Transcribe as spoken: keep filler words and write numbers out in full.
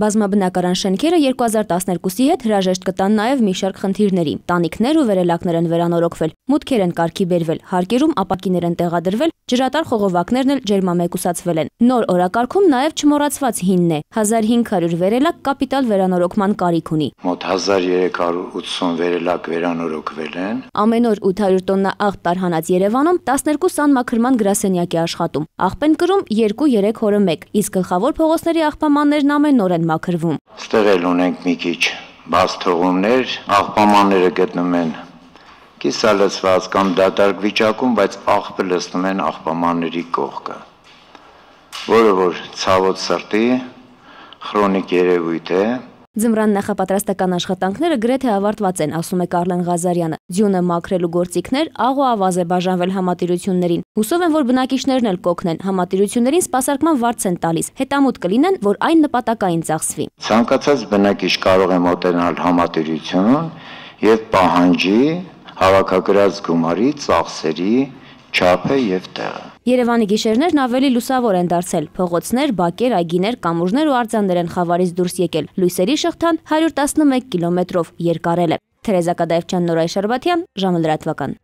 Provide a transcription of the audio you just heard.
Բազմաբնակարան շենքերը երկու հազար տասներկուսի հետ հրաժեշտ կտան նաև մի շարք խնդիրների։ Տանիքներ ու վերելակներ են վերանորոգվել, մուտքեր են կարգի բերվել, հարկերում ապակիներ են տեղադրվել, ջրատար խողովակներն էլ ջերմամեկուսացվել են։ Նոր օրակարգում նաև չմոռացված հինն է։ հազար հինգ հարյուր վերելակ կապիտալ վերանորոգման կարիք ունի։ Մոտ հազար երեք հարյուր ութսուն վերելակ վերանորոգվել են։ Ամեն օր ութ հարյուր տոննա աղբ տարհանած Երևանում տասներկու սանմաքրման գրասենյակ է աշխատում։ Աղբ են կրում երկու երեք օրը մեկ, իսկ գլխավոր փողոցների աղբամաններն ամեն օր են մաքրվում։ Ստեղ էլ ունենք մի քիչ բաց թողումներ, աղբամանները գտնվում են կիսալցված կամ դատարկ վիճակում, բայց աղբը լցնում են աղբամանների կողքը, որը որ ցավոտ սրտի քրոնիկ երևույթ է։ Ձմռան նախապատրաստական աշխատանքները գրեթե ավարտված են, ասում է Կարլեն Ղազարյանը։ Ձյունը մաքրելու գործիքներ աղ ու ավազ է բաժանվել համատիրություններին։ Հուսով են, որ բնակիչներն էլ կօգնեն, համատիրություններին սպասարկման վարձ են տալիս, հետամուտ կլինեն, որ այն նպատակային ծախսվի։ Ցանկացած բնակիչ կարող է մոտենալ համատիրություն եւ պահանջի հավաքագրած գումարի ծախսերի չափը եւ տեղը։ Երևանի գիշերներն ավելի լուսավոր են դարձել։ Փողոցներ, բակեր, այգիներ, կամուրջներ ու արձաններ են խավարից դուրս եկել։ Լույսերի շղթան հարյուր տասնմեկ կիլոմետրով երկարել է։ Թերեզա Կադաևչյան, Նորայր Շարբաթյան, ժամը լրատվական։